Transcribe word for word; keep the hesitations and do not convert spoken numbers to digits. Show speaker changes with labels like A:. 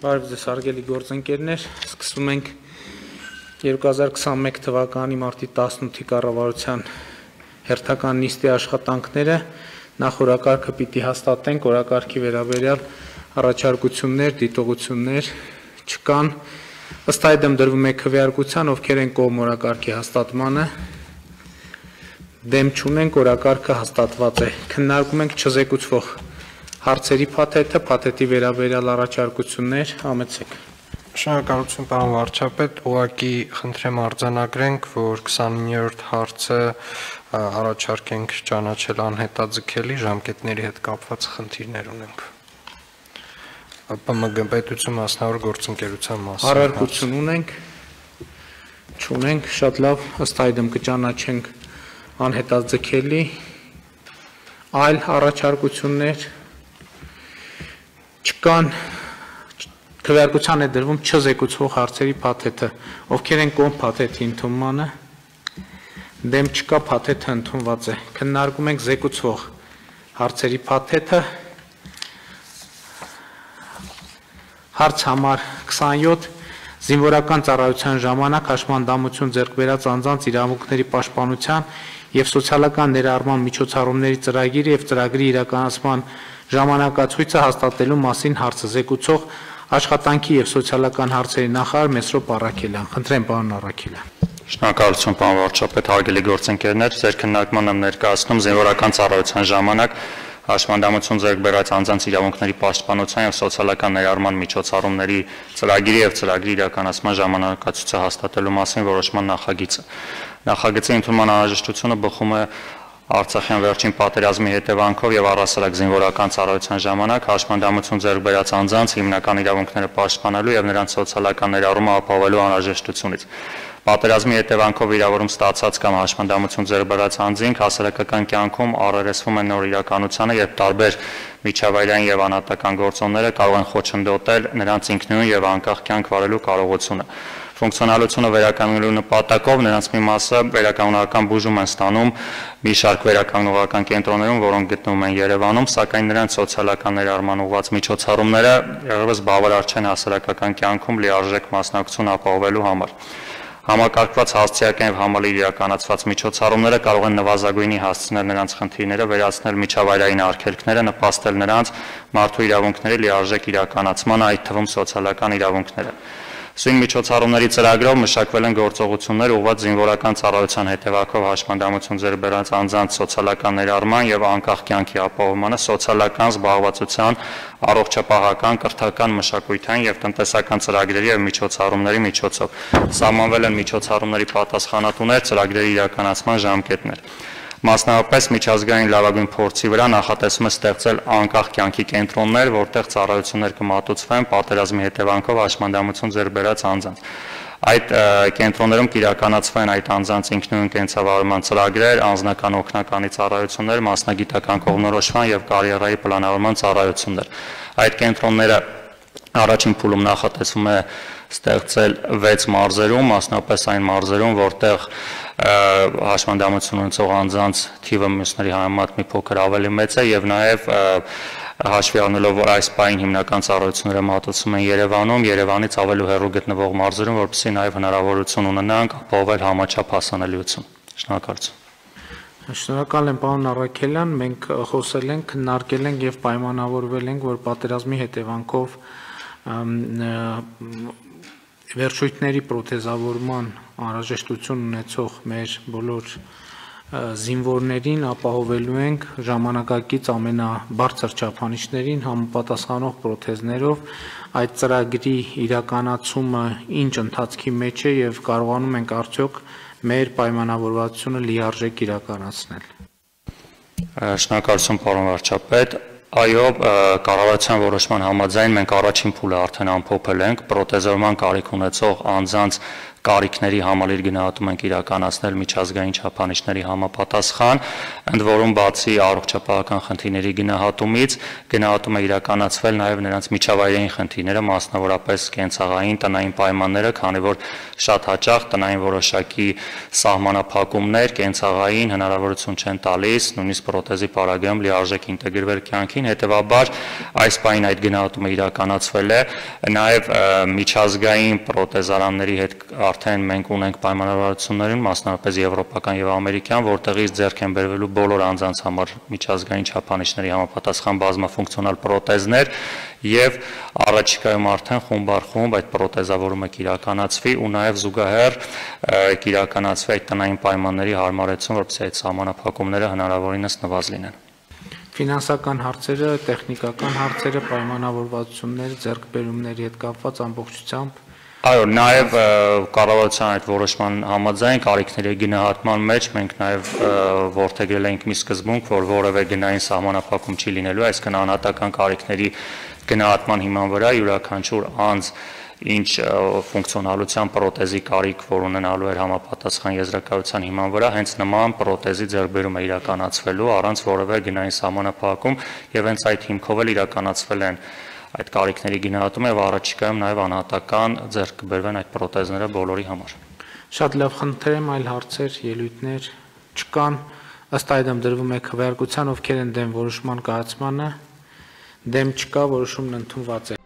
A: Բարև ձեզ հարգելի գործընկերներ, սկսում ենք երկու հազար քսանմեկ թվականի մարտի տասնութի կառավարության հերթական նիստի աշխատանքները, նախ օրակարգը պիտի հաստատենք, օրակարգի վերաբերյալ առաջարկություններ, դիտողություններ չկան, ըստ այդմ դրվում է քվեարկության, ովքեր են կողմ օրակարգի հաստատմանը, դեմ չունենք, օրակարգը հաստատված է, քննարկում ենք չզեկուցվող հարցերի փաթեթը, փաթեթի վերաբերյալ առաջարկություններ, համեցեք։
B: Շնորհակալություն պարոն վարչապետ, ուղղակի խնդրեմ արձանագրենք, որ քսանիններորդ հարցը առաջարկենք ճանաչել անհետաձգելի, ժամկետների հետ կապված խնդիրներ ունենք։ ՊՄԳ պետություն մասնավոր գործընկերության մասին
A: առարկություն ունենք, չունենք, շատ լավ, ըստ այդմ կճանաչենք անհետաձգելի, այլ առաջարկություններ չկան, քվեարկության է դրվում չզեկուցվող հարցերի փաթեթը, ովքեր են կողմ փաթեթի ընդունմանը, դեմ չկա, փաթեթը ընդունված է, քննարկում ենք զեկուցվող հարցերի փաթեթը, հարց համար քսանյոթ, զինվորական ծառայության ժամանակ հաշմանդամություն ձեռք բերած անձանց իրավունքների պաշտպանության և սոցիալական ներառման միջոցառումների ծրագիրը և ծրագրի իրականացման ժամանակացույցը հաստատելու մասին հարցը զեկուցող աշխատանքի և սոցիալական հարցերի նախարար Մեսրոպ Առաքելյան։ Խնդրեմ պարոն Առաքելյան։
C: Շնորհակալություն պարոն վարչապետ, հարգելի գործընկերներ, ձեր քննարկման եմ ներկայացնում զինվորական ծառայության ժամանակ հաշմանդամություն ձեռք բերած անձանց իրավունքների պաշտպանության և սոցիալական ներառման միջոցառումների ծրագիրի և ծրագրի իրականացման ժամանակացույցը հաստատելու մասին որոշման նախագիծը։ Նախագծի ընդունման անհրաժեշտությունը բխում է Արցախյան վերջին պատերազմի հետևանքով և առհասարակ զինվորական ծառայության ժամանակ հաշմանդամություն ձեռք բերած անձանց հիմնական իրավունքները պաշտպանելու և նրանց սոցիալական ներառումը ապահովելու անհրաժեշտությունից։ Պատերազմի հետևանքով վիրավորում ստացած կամ հաշմանդամություն ձեռք բերած անձինք հասարակական կյանքում առերեսվում են նոր իրականությանը, երբ տարբեր միջավայրային և անհատական գործոնները կարող են խոչընդոտել նրանց ինքնուրույն և անկախ կյանք վարելու կարողությունը։ Ֆունկցիոնալությունը վերականգնելու նպատակով նրանց մի մասը վերականգնողական բուժում են ստանում մի շարք վերականգնողական կենտրոններում, որոնք գտնվում են Երևանում, սակայն նրանց սոցիալական ներառման ուղղված միջոցառումները դեռևս բավարար չեն հասարակական կյանքում լիարժեք մասնակցություն ապահովելու համար։ Համակարգված հասցեական և համալիր իրականացված միջոցառումները կարող են նվազագույնի հասցնել նրանց խնդիրները, վերացնել միջավայրային արգելքները, նպաստել նրանց մարդու իրավունքների լիարժեք իրականացմանը, այդ թվում սոցիալական իրավունքները։ Սույն միջոցառումների ծրագրով մշակվել են գործողություններ ուղղված զինվորական ծառայության հետևանքով հաշմանդամություն ձեռք բերած անձանց սոցիալական ներառման և անկախ կյանքի ապահովմանը, սոցիալական զբաղվածության, առողջապահական, կրթական, մշակութային և տնտեսական ծրագրերի և միջոցառումների միջոցով։ Սահմանվել են միջոցառումների պատասխանատուներ, ծրագրերի իրականացման ժամկետներ։ Մասնավորապես միջազգային լավագույն փորձի վրա նախատեսվում է ստեղծել անկախ կյանքի կենտրոններ, որտեղ ծառայություններ կմատուցվեն պատերազմի հետևանքով հաշմանդամություն ձեռք բերած անձանց։ Այդ կենտրոններում կիրականացվեն այդ անձանց ինքնուրույն կենսավարման ծրագրեր, անձնական օգնականի ծառայություններ, մասնագիտական կողմնորոշման և կարիերայի պլանավորման ծառայություններ։ Այդ կենտրոնները առաջին փուլում նախատեսվում է ստեղծել վեց մարզերում, մասնավորապես այն մարզերում, որտեղ հաշմանդամություն ունեցող անձանց թիվը մյուսների համեմատ մի փոքր ավելի մեծ է և նաև հաշվի առնելով, որ այս պահին հիմնական ծառայությունները մատուցվում են Երևանում, Երևանից ավելի հեռու գտնվող մարզերում, որպեսզի նաև հնարավորություն ունենանք ապահովել համաչափ հասանելիություն։ Շնորհակալություն։
A: Շնորհակալ եմ պարոն Առաքելյան, մենք խոսել ենք, քննարկել ենք և պայմանավորվել ենք, որ պատերազմի հետևանքով վերջույթների պրոթեզավորման անհրաժեշտություն ունեցող մեր բոլոր զինվորներին ապահովելու ենք ժամանակակից ամենաբարձր չափանիշներին համապատասխանող պրոթեզներով, այդ ծրագրի իրականացումը ինչ ընթացքի մեջ է և կարողանում ենք արդյոք մեր պայմանավորվածությունը լիարժեք իրականացնել։
C: Շնորհակալություն պարոն վարչապետ։ Այո, կառավարության որոշման համաձայն մենք առաջին փուլը արդեն ամփոփել ենք պրոթեզավորման կարիք ունեցող անձանց կարիքների համալիր գնահատում ենք իրականացնել միջազգային չափանիշների համապատասխան, ընդ որում բացի առողջապահական խնդիրների գնահատումից, գնահատում է իրականացվել նաև նրանց միջավայրային խնդիրները, մասնավորապես կենցաղային, տնային պայմանները, քանի որ շատ հաճախ տնային որոշակի սահմանափակումներ կենցաղային հնարավորություն չեն տալիս նույնիսկ պրոթեզի պարագայում լիարժեք ինտեգրվել կյանքին, հետևաբար այս պահին այդ գնահատումը իրականացվել է, նաև միջազգային պրոթեզարանների հետ արդեն մենք ունենք պայմանավորվածություններին, մասնավորապես եվրոպական եւ ամերիկյան, որտեղից ձեռք են բերվելու բոլոր անձանց համար միջազգային չափանիշների համապատասխան բազմաֆունկցիոնալ պրոթեզներ եւ առաջիկայում արդեն խումբ առ խումբ այդ պրոթեզավորումը կիրականացվի ու նաեւ զուգահեռ կիրականացվի այդ տնային պայմանների հարմարեցում, որպեսզի այդ սահմանափակումները հնարավորինս նվազ լինեն։
A: Ֆինանսական հարցերը, տեխնիկական հարցերը, պայմանավորվածությունները, ձեռքբերումների հետ կապված ամբողջությամբ
C: Այո, նաև կառավարության այդ որոշման համաձայն կարիքների գնահատման մեջ մենք նաև որդեգրել ենք մի սկզբունք, որ որևէ գնային սահմանափակում չի լինելու, այսինքն անհատական կարիքների գնահատման հիման վրա յուրաքանչյուր անձ ինչ ֆունկցիոնալության պրոթեզի կարիք, որ ունենալու էր համապատասխան եզրակացության հիման վրա, հենց նման պրոթեզի ձեռքբերում է իրականացվելու առանց որևէ գնային սահմանափակում եւ հենց այդ հիմքով էլ իրականացվել են այդ կարիքների գնահատում եւ առաջիկայում նաեւ անհատական ձեռք կբերվեն այդ պրոթեզները բոլորի համար։
A: Շատ լավ, խնդրեմ, այլ հարցեր, ելույթներ չկան, ըստ այդմ դրվում է քվեարկության, ովքեր են դեմ որոշման կայացմանը, դեմ չկա, որոշումն ընդունված է։